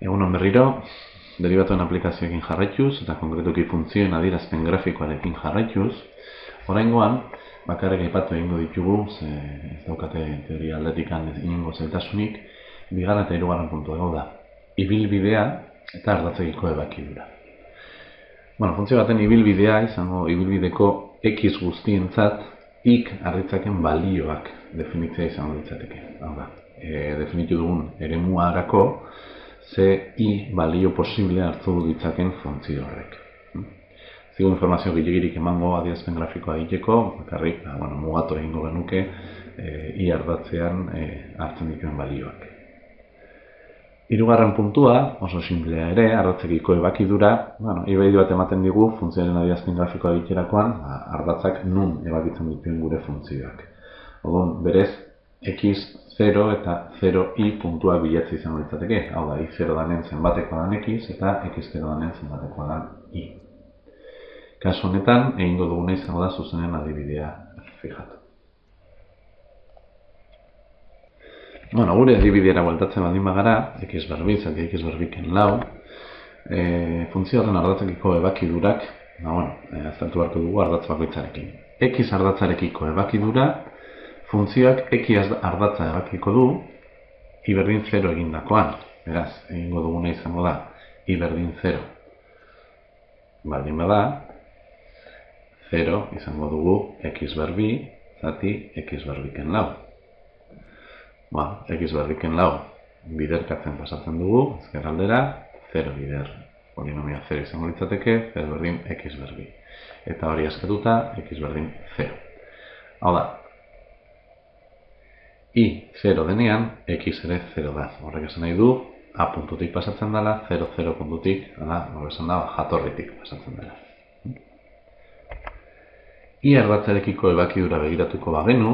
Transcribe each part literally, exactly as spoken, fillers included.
Egunon berriro, derivatuen aplikazioekin jarraituz eta konkretuki funtzioen adierazpen grafikoarekin jarraituz, oraingoan bakarrik aipatu egingo ditugu, ze ez daukate teoria aldetikan inongo zailtasunik, bigarren eta hirugarren puntua hau da. Ibilbidea eta ardatzekiko ebakidura. Bueno, funtzio baten ibilbidea izango ibilbideko x guztientzat ik arritzaken balioak definitzea izango litzateke. Hau da, e, definitu dugun eremuarako ze i balio posible hartu ditzaken funtzio horrek. Zigo informazio gilegirik emango adierazpen grafikoa egiteko, bakarrik, bueno, mugatu egingo genuke e, i ardatzean e, hartzen dituen balioak. Hirugarren puntua, oso simplea ere, ardatzekiko ebakidura, bueno, ibaidi bat ematen digu funtzioaren adierazpen grafikoa egiterakoan, ardatzak nun ebakitzen dituen gure funtzioak. Orduan, berez, x zero eta zero i puntua bilatzea izango litzateke. Hau da, i zero danen zenbatekoa dan x eta x zero danen zenbatekoa dan i. Kasu honetan, egingo duguna izango da zuzenen adibidea fijatu. Bueno, gure adibideara bueltatzen baldin bagara, x berbi, zati x berbiken lau, e, funtzio horren ardatzekiko ebakidurak, ba, bueno, e, aztertu beharko dugu ardatz bakoitzarekin. X ardatzarekiko ebakidura, funtzioak x ardatza ebakiko du, i berdin zero egindakoan. Beraz, egingo duguna izango da, i berdin zero. Baldin bada, zero izango dugu x berbi, zati x berbiken lau. Ba, x berbiken lau biderkatzen pasatzen dugu, ezker aldera, zero bider. Polinomia zero izango litzateke, zero berdin x berbi. Eta hori askatuta, x berdin zero. Hau da, i zero denean, x ere zero da. Horrek esan nahi du, a puntutik pasatzen dela, zero zero puntutik, horrek esan da, jatorritik pasatzen dela. I ardatzarekiko ebakidura begiratuko bagenu,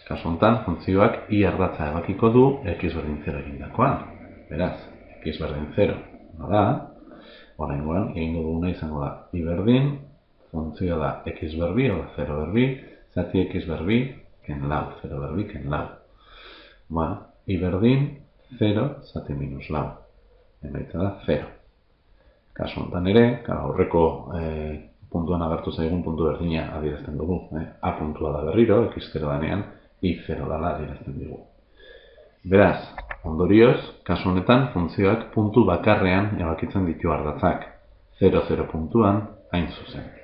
kasu honetan, funtzioak i ardatza ebakiko du x berdin zero egindakoan. Beraz, x berdin zero da, oraingoan egingo duguna izango da i berdin, funtzioa da x berbi, o zero berbi, zati x berbi, ken lau, zero berbi, ken lau. Bueno, i berdin, zero, zati minus lau. Emaitza da, zero. Kasu honetan ere, aurreko eh, puntuan agertu zaigun puntu berdina adierazten dugu. Eh? A puntua da berriro, x zero danean, i zero dala adierazten dugu. Beraz, ondorioz, kasu honetan, funtzioak puntu bakarrean ebakitzen ditu ardatzak. zero zero puntuan, hain zuzen.